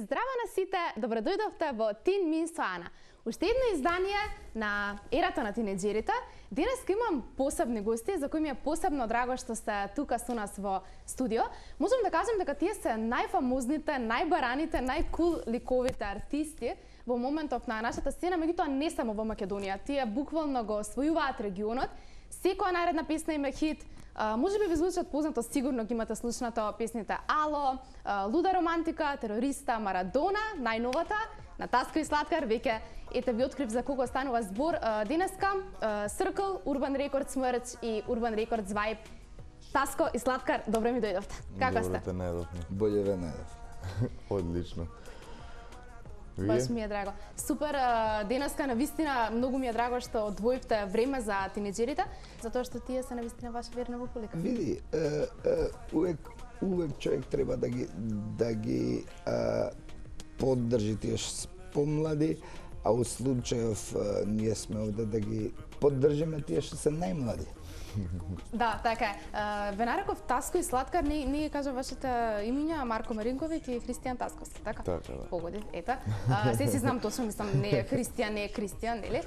Здраво на сите, добродојдовте во Тин Мин со Ана. Уште едно издание на ерата на тинеџерите. Денеска имам посебни гости за кои ми е посебно драго што сте тука со нас во студио. Можам да кажам дека тие се најфамозните, најбараните, најкул ликовите артисти во моментов на нашата сцена, меѓутоа не само во Македонија. Тие буквално го освојуваат регионот. Секоја наредна песна им е хит. Може би ви звучат познато, сигурно ги имате слушнато песните Ало, Луда романтика, Терориста, Марадона, најновата, на Таско и Сладкар, веќе ете ви открив за кого станува збор. Денеска Circle, Urban Records Merch и Urban Records Vibe. Таско и Сладкар, добро ми дојдовте. Како сте? Добро те најдовме. Боле ве најдов. Одлично. Баш ми е драго. Супер, денеска навистина многу ми е драго што одвоивте време за тинеџерите, затоа што тие се навистина ваша верна публика. Види, увек човек треба да ги поддржи тие помлади, а у случајов ние сме овде да ги поддржиме тие што се најмлади. Да, така е. Ве нареков Таско и Сладкар, не кажа вашите имиња, Марко Маринковиќ и Христијан Тасковски, така? Така, да. Погоди, ета. Се си знам точно, мислам, не е Кристијан, нели?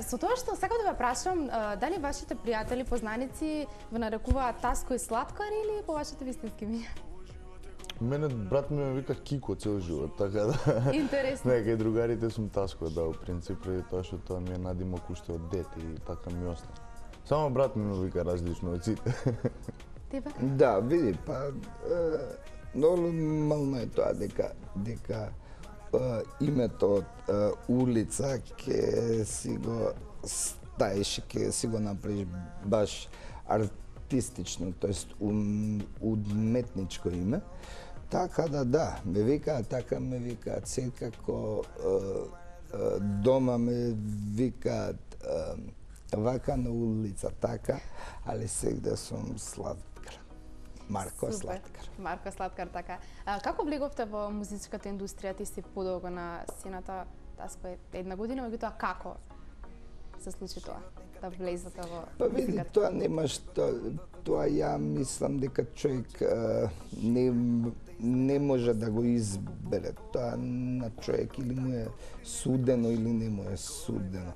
Со тоа што сакам да ве прашам, дали вашите пријатели, познаници ве нарекуваат Таско и Сладкар или по вашите вистински имиња? Мене брат ми ме вика Кико цел живот, така да. Интересно. Не, кај другарите сум Таско, да, у принцип, преди тоа што тоа ми е надимок уште од дете и така ми остана. Само брат ми ме вика различно од сите. Тебе? Да, види, па нормално е тоа дека името од улица ќе си го ставиш, ќе си го направиш баш артистично, тоест уметничко име. Така да, ме викаат, така ме викаат, секако дома ме викаат вака на улица, така, али сегде сум Сладкар. Марко Сладкар. Марко Сладкар, така. Како влеговте во музичката индустрија? Ти си подолго на сцената, Таско е една година, меѓутоа како се случи тоа? Да влезете во Па види, тоа нема што, тоа ја мислам дека човек не може да го избере. Тоа на човек или му е судено или не му е судено.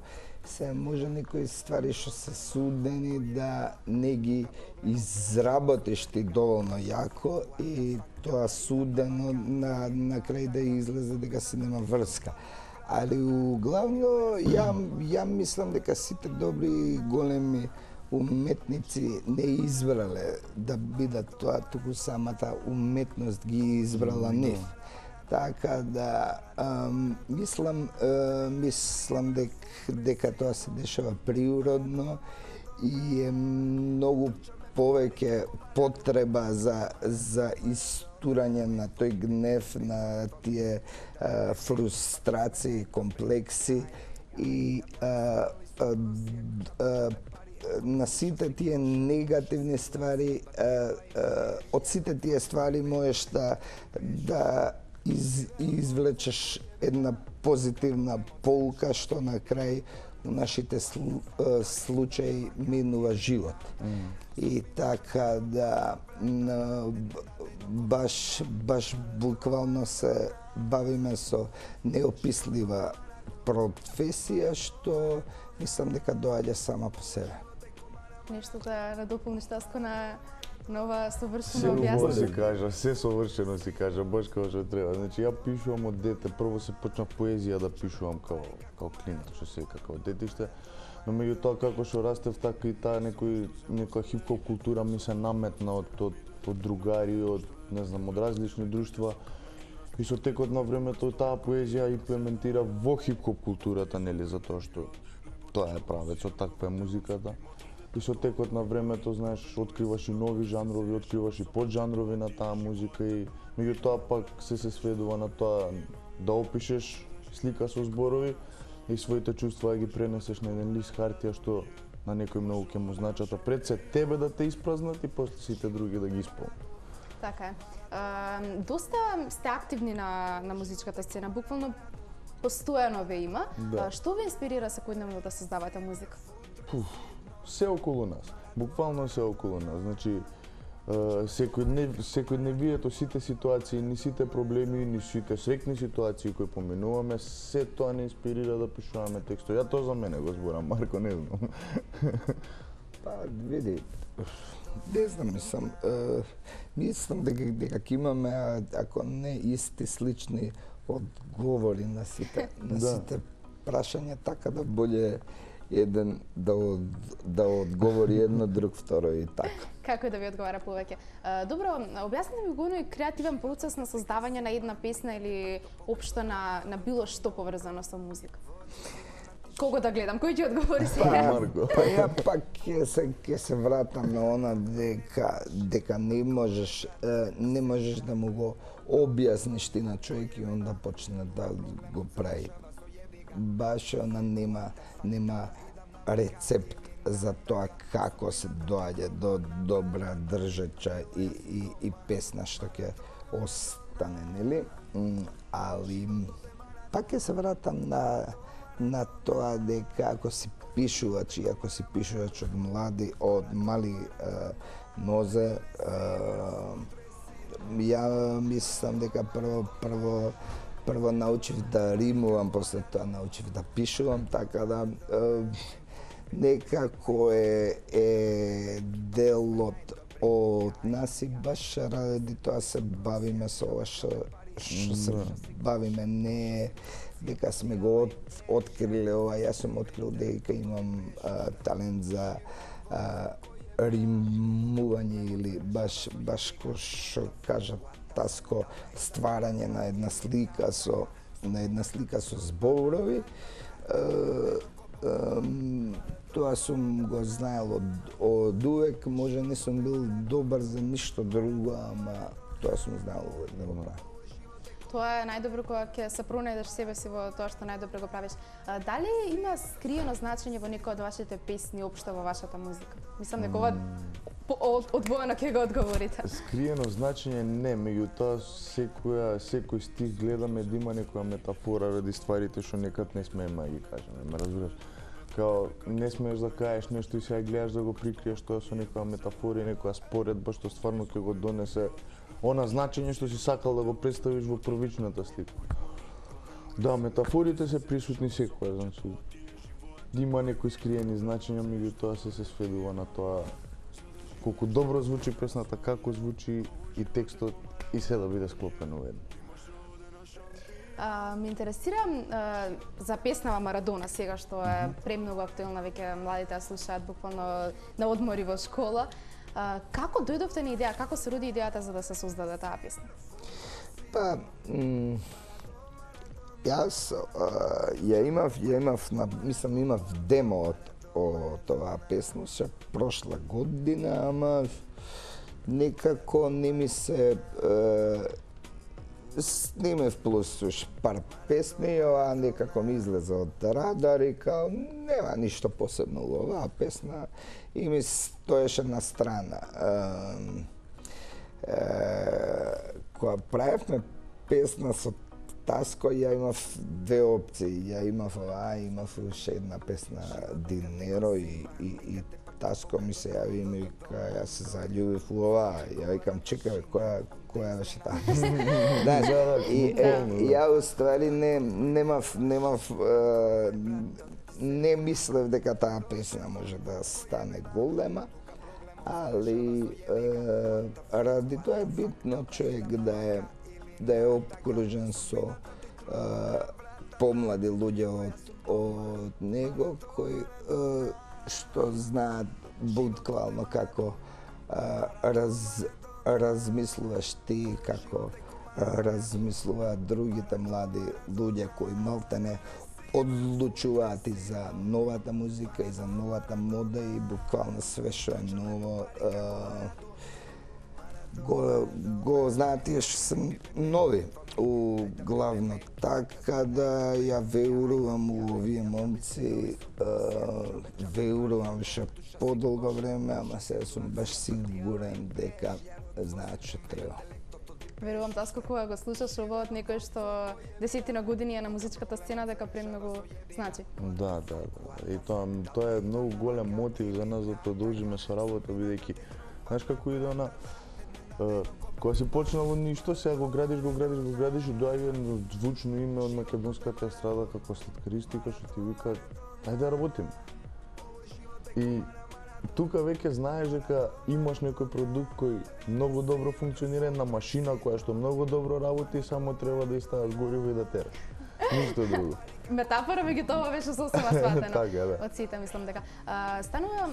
Се може некои ствари што се судени да не ги изработиш ти доволно јако и тоа судено на крај да излезе дека се нема врска. Али главно ја мислам дека сите добри големи уметници не избрале да бидат тоа, туку самата уметност ги избрала нив. Така да мислам дека тоа се дешава природно и е многу повеќе потреба за истурање на тој гнев, на тие фрустрации, комплекси и на сите тие негативни ствари, од сите тие ствари можеш да извлечеш една позитивна полука што на крај у нашите случаи минува живот. И така да баш буквално се бавиме со неопислива професија што мислам дека доаѓа сама по себе. Нешто да надополниш, Таско, на нова совршено Се објаснение? се кажа, се совршено си кажа, баш како што треба. Значи, ја пишувам од дете, прво се почна поезија да пишувам као клинец, што се како детиште, но меѓутоа како што растев, така и таа некоја хип-хоп култура ми се наметна од другари, од различни друштва. И со текот на времето таа поезија имплементира во хип-хоп културата, нели, затоа што тоа е правецот, таква е музиката. И со текот на времето, знаеш, откриваш и нови жанрови, откриваш и поджанрови на таа музика и меѓутоа пак се сведува на тоа да опишеш слика со зборови и своите чувства да ги пренесеш на еден лист хартија што на некој многу ќе му значат, а пред се тебе да те испразнат и после сите други да ги исполнат. Така е. Доста сте активни на музичката сцена, буквално постојано ве има. Да. Што ве инспирира секојдневно да создавате музика? Се околу нас. Буквално се околу нас. Значи, секој дневието, сите ситуации, ни сите проблеми, ни сите среќни ситуации кои поминуваме, се тоа не инспирира да пишуваме текстови. Ја тоа за мене го зборам, Марко, не знам. Па, види, не знам, мислам дека ќе имаме, ако не исти, слични одговори на сите прашања, така да боле еден да одговори едно, друг второ и така. Како да ви одговара повеќе? Добро, објасни ми го оној креативен процес на создавање на една песна или општо на било што поврзано со музика. Кого да гледам? Кој ќе одговори сега? Па ја пак ќе се вратам на она дека не можеш да му го објасниш ти на човек и он да почне да го прави. Баш она нема рецепт за тоа како се доаѓа до добра држача и песна што ќе остане, нели? Али пак ќе се вратам на тоа дека ако си пишувач од мали нозе, ја мислам дека прво научив да римувам, после тоа научив да пишувам, така да некако е делот од нас и баш ради тоа се бавиме со ова што се бавиме, не дека сме го откриле ова. Јас сум открил дека имам талент за римување или баш кој што кажа Таско, стварање на една слика со зборови. Тоа сум го знаел од увек, може не сум бил добар за ништо друго, ама тоа сум знаел да го правам. Тоа е најдобро кога ќе се пронајдеш себе си во тоа што најдобро го правиш. Дали има скриено значење во некој од вашите песни општо во вашата музика? Мислам дека ова одвоено ќе го одговорите. Скриено значење не, меѓутоа секој стих гледаме да има некоја метафора ради стварите што некад не смееме да ги кажеме, ме разбираш? Као не смееш да кажеш нешто и сега гледаш да го прикриеш тоа со некоја метафора и некоја споредба што стварно ќе го донесе она значење што си сакал да го представиш во првичната слика. Да, метафорите се присутни секоја, значи има некои скриени значења, меѓутоа се сведува на тоа колку добро звучи песната, како звучи и текстот и се да биде склопено во едно. Ме интересира за песнава Марадона сега што е премногу актуелна, веќе младите ја слушаат буквално на одмори во школа. Како дојдовте на идеја, како се роди идејата за да се создаде таа песна? Па, јас ја имав, мислам имав демо од оваа песна, ше прошла година, ама некако не ми се снимев плюс пар песни, ова некако ми излезе од радар и као нема ништо посебно во оваа песна и ми стоеше на страна. Кога правевме песна со Таско, ја имав две опции. Ја имав оваа, имав уште една песна Динеро и Таско ми се јави и ми вика, јас се заљубив во оваа. Ја викам, чекај, која беше таа песна? И ја уствари не мислев дека таа песна може да стане голема, али ради тоа е битно човек да е обкружен со помлади луѓе од него кои што знаат буквално како размислуваш ти, како размислуваат другите млади луѓе кои малтене одлучуваат и за новата музика и за новата мода и буквално све што е ново го знаат тие што се нови главно, така да ја верувам у овие момци, верувам што подолго време, ама сега сум баш сигурен дека знаат што треба. Верувам, Таско, кога го слушаш ово од некој што десетина години е на музичката сцена, дека премногу значи. Да. И тоа е многу голем мотив за нас да продолжиме со работа, бидејќи знаеш како иде она Кога си почнал од ништо, сега го градиш и доаѓа звучно име од македонската естрада како слаткаристика што ти вика ајде да работиме. И тука веќе знаеш дека имаш некој продукт кој многу добро функционира, една машина која што многу добро работи, само треба да ја ставаш гориво и да тераш. Ништо друго. Метафора меѓу тоа беше сосема сватена. Така, да. Од сите мислам дека станува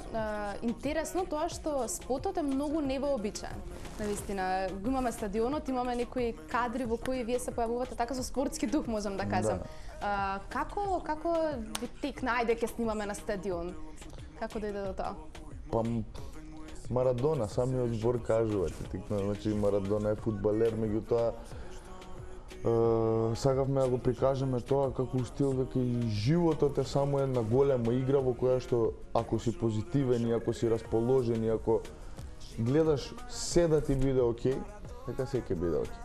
интересно тоа што спотот е многу невообичаен. Навистина, го имаме стадионот, имаме некои кадри во кои вие се појавувате така со спортски дух, можам да кажам. Да. Како ви текна ајде ќе снимаме на стадион? Како дојде до тоа? Па Марадона, самиот збор кажува, текна, значи Марадона е фудбалер, меѓутоа сакавме да го прикажеме тоа како стил дека и животот е само една голема игра во која што ако си позитивен и ако си расположен и ако гледаш се да ти биде окей, дека се ќе биде окей.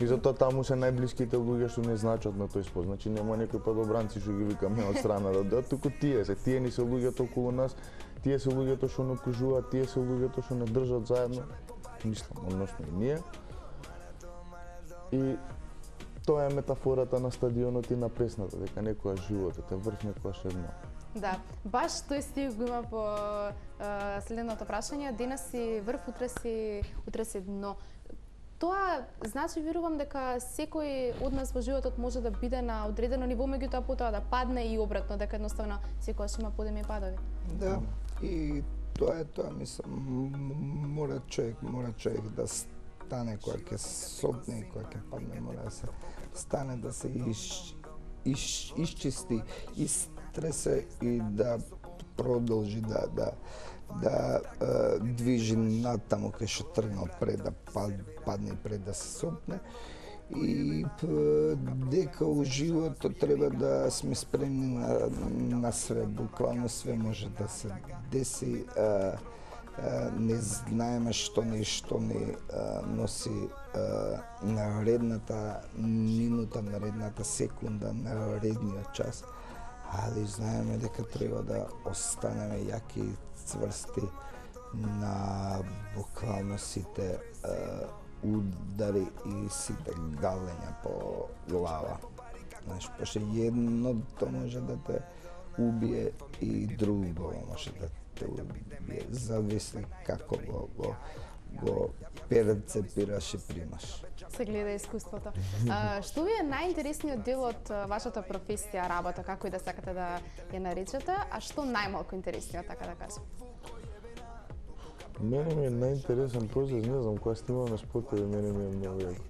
И затоа таму се најблиските луѓе што не значат на тој спорт. Значи нема некои падобранци што ги викаме од страна да одат, туку тие ни се луѓето околу нас, тие се луѓето што не окружуваат, тие се луѓето што не држат заедно, мислам, односно и ние. И тоа е метафората на стадионот и на пресната, дека некоја животот е врв, некојаш е дно. Да, баш тој стих го има по следното прашање, денес си врв, утре си дно. Тоа значи верувам дека секој од нас во животот може да биде на одредено ниво, меѓутоа потоа да падне и обратно, дека едноставно секогаш има подеми и падови. Да, и тоа е тоа, мислам, мора човек да стане кога ќе сопне и кога ќе падне, мора да се стане, да се исчисти, истресе и да продолжи да движи натаму кај што тргнал пред да падне и пред да се сопне. И дека у животот треба да сме спремни на све, буквално све може да се деси. Не знаеме што ни носи наредната минута, наредната секунда, наредниот час, али знаеме дека треба да останеме јаки и цврсти на буквално сите удари и сите галења по глава. Знаеш, пошто едното може да те убие и друго може да те убие. Зависи како го перцепираш и примаш. Се гледа искуството. Што ви е најинтересниот дел од вашата професија, работа, како и да сакате да ја наречете, а што најмалку интересниот, така да кажем? Мене ми е најинтересен процес, не знам, кога снимаме спотови, мене ми е многу јако.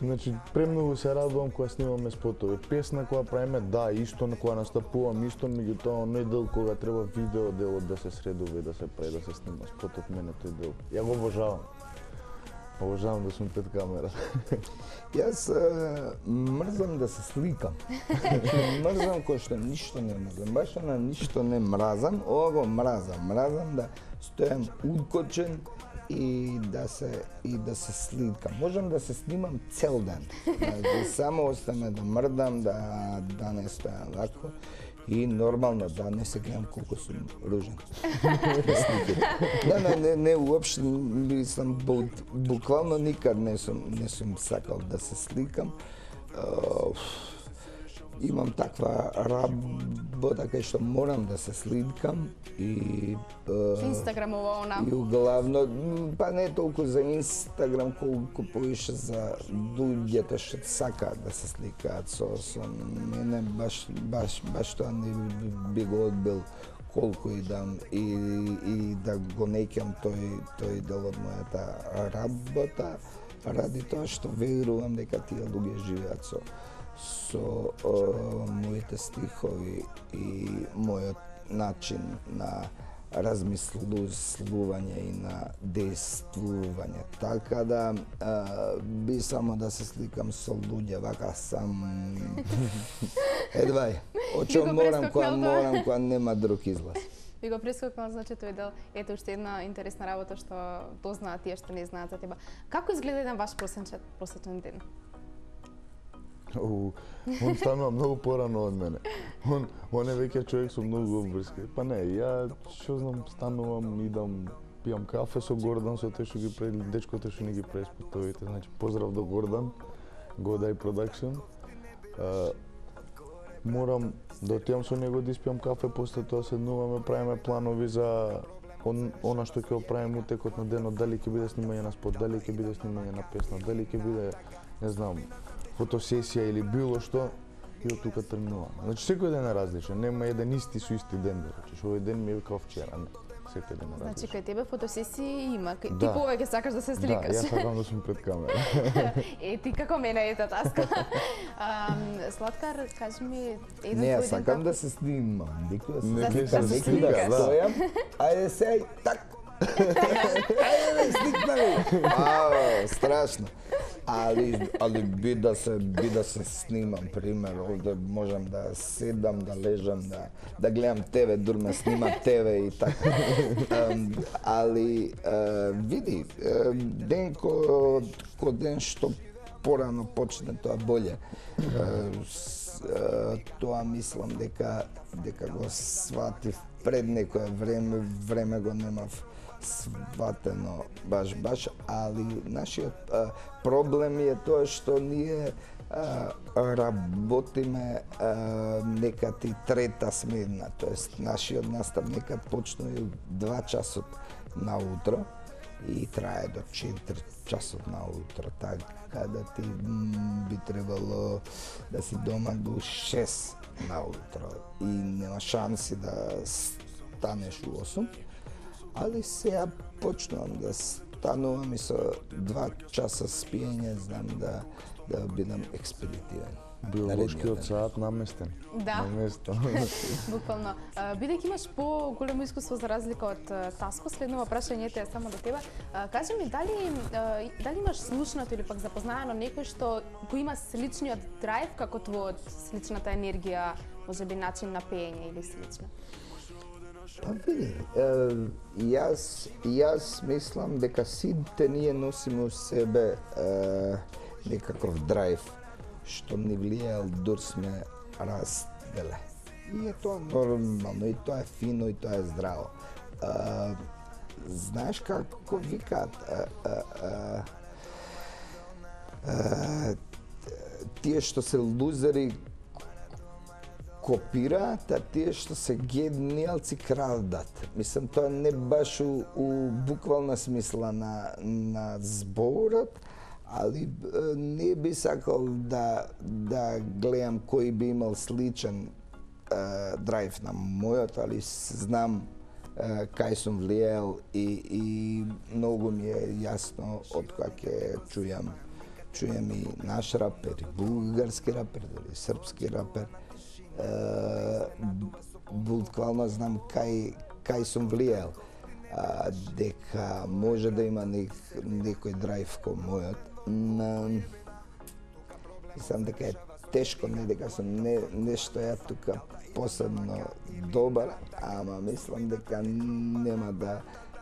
Значи, премногу се радувам кога снимаме спотови. Песна кога правиме, да, исто кога настапувам, исто, меѓутоа оној дел кога треба видео делот да се средува и да се прави, да се снима спотот, мене тој дел. Ја го обожавам. Обожавам да сум пред камера. Јас мрзам да се сликам. Мрзам кој што ништо не мрзам. Баш на ништо не мразам, ова го мразам. Мразам да стојам укочен и да се сликам. Можам да се снимам цел ден. Да само остане да мрдам, да не стојам лако. И нормално да не се гледам колку сум ружен. Да, не уопште мислам, буквално никад не сум сакал да се сликам. Имам таква работа кај што морам да се сликам и Инстаграмова она. И главно, па не толку за Инстаграм, колку повише за луѓето што сакаат да се сликаат со мене, баш тоа не би го одбил колку и да го неќам тој дел од мојата работа, ради тоа што верувам дека тие луѓе живеат со моите стихови и мојот начин на размислување и на действување. Така да би само да се сликам со луѓе вака сам. Едвај, очо морам кога нема друг излаз. Ви го прескокнал, значи тој дел. Ето уште една интересна работа што дознаат тие што не знаат за тебе. Како изгледа еден ваш просечен ден? Он станува многу порано од мене. Он е веќе човек со многу обврски. Па не, ја што знам, станувам, идам пијам кафе со Гордан, со тој што ги прави дечкото што ни ги прави спотовите. Значи поздрав до Гордан, Goday Production. Морам да отидам со него да испијам кафе, после тоа седнуваме, правиме планови за она што ќе оправиме утекот на денот, дали ќе биде снимање на спот, дали ќе биде снимање на песна, дали ќе биде, не знам, фотосесија или било што, и од тука тргнуваме. Значи секој ден е различен, нема еден исти со исти ден, да речеш, овој ден ми е као вчера, не. Секој ден е различен. Значи кај тебе фотосесии има, ти Да. повеќе сакаш да се сликаш. Да, јас сакам да сум пред камера. Ти како мене ете таска. Сладкар, кажи ми еден Не, јас твој ден сакам како- да се снимам, никој да се Не, сликам, да се никој сликаш. да стојам, ајде сеј, так, ајде да сликнаме. Страшно. Али би да се снимам, пример, овде можам да седам, да лежам, да гледам тебе, дур ме снима тебе и така. Али види, ден ко ден што порано почне, тоа боле. Тоа мислам дека го сватив пред некое време го немав сватено баш, али нашиот проблем е тоа што ние работиме некати трета смена, тоест нашиот настав некад почнува 2 часот наутро и трае до 4 часот наутро, така да ти би требало да си дома до 6 наутро и нема шанси да станеш у 8. Али сега почнувам да станувам и со 2 часа спиење, знам да бидам експедитивен. Биолошкиот саат наместен. Да. На место. Буквално. Бидејќи имаш по-големо искуство за разлика од Таско, следново прашањето е само до тебе. Кажи ми, дали имаш слушнато или пак запознаено некој што го има сличниот драйв како твојот, сличната енергија, можеби начин на пеење или слично? Па види, јас мислам дека сите ние носиме у себе некаков драйв што ни влијал дур сме растеле. И е тоа нормално, и тоа е фино, и тоа е здраво. Знаеш како викаат, тие што се лузери копираат, а тие што се гениалци крадат. Мислам, тоа не баш у буквална смисла на зборот, али не би сакал да гледам кој би имал сличен драйв на мојот, али знам кај сум влијал и многу ми е јасно од кога ќе чујам и наш рапер, и бугарски рапер, или српски рапер. Буквално знам кај сум влијал, дека може да има некој драйв ко мојот. Мислам дека е тешко, не дека сум нешто ја тука посебно добар, ама мислам дека нема да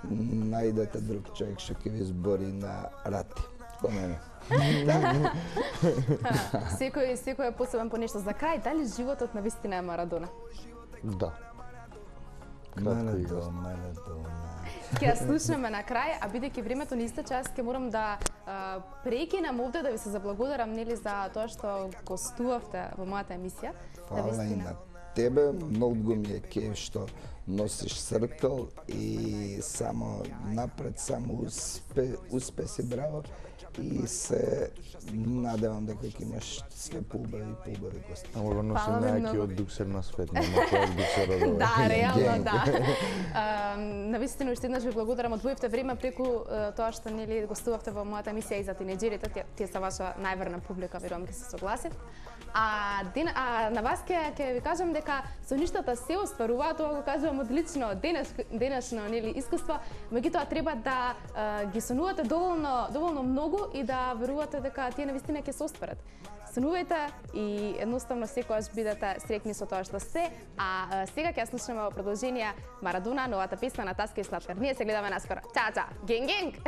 најдете друг човек што ќе ви збори на рати, ко мене. Секој е посебен по нешто. За крај, дали животот на вистина е Марадона? Да. Марадона. Ќе ја слушнеме на крај, а бидејќи времето ни истече, јас ќе морам да прекинам овде да ви се заблагодарам нели за тоа што гостувавте во мојата емисија. Фала и на тебе, многу ми е кеф што носиш Circle и само напред, само успеси, браво. И се надевам дека ќе имаш све поубави гости. Ама го носи Фала ви многу. најакиот дуксер на свет, нема кој дуксер од ова. Да, реално да. Навистина уште еднаш ви благодарам, одвоивте време преку тоа што нели гостувавте во мојата емисија и за тинеџерите, тие се ваша најверна публика, верувам ќе се согласите. На вас ќе ви кажам дека соништата се остваруваат, тоа го кажувам одлично денешно нели искуство, меѓутоа треба да ги сонувате доволно многу и да верувате дека тие навистина ќе се остварат. Сонувајте и едноставно секогаш бидете среќни со тоа што сте, а сега ќе слушнеме во продолжение Марадона, новата песна на Таска и Сладкар. Ние се гледаме наскоро. Чао, чао. Генг, генг.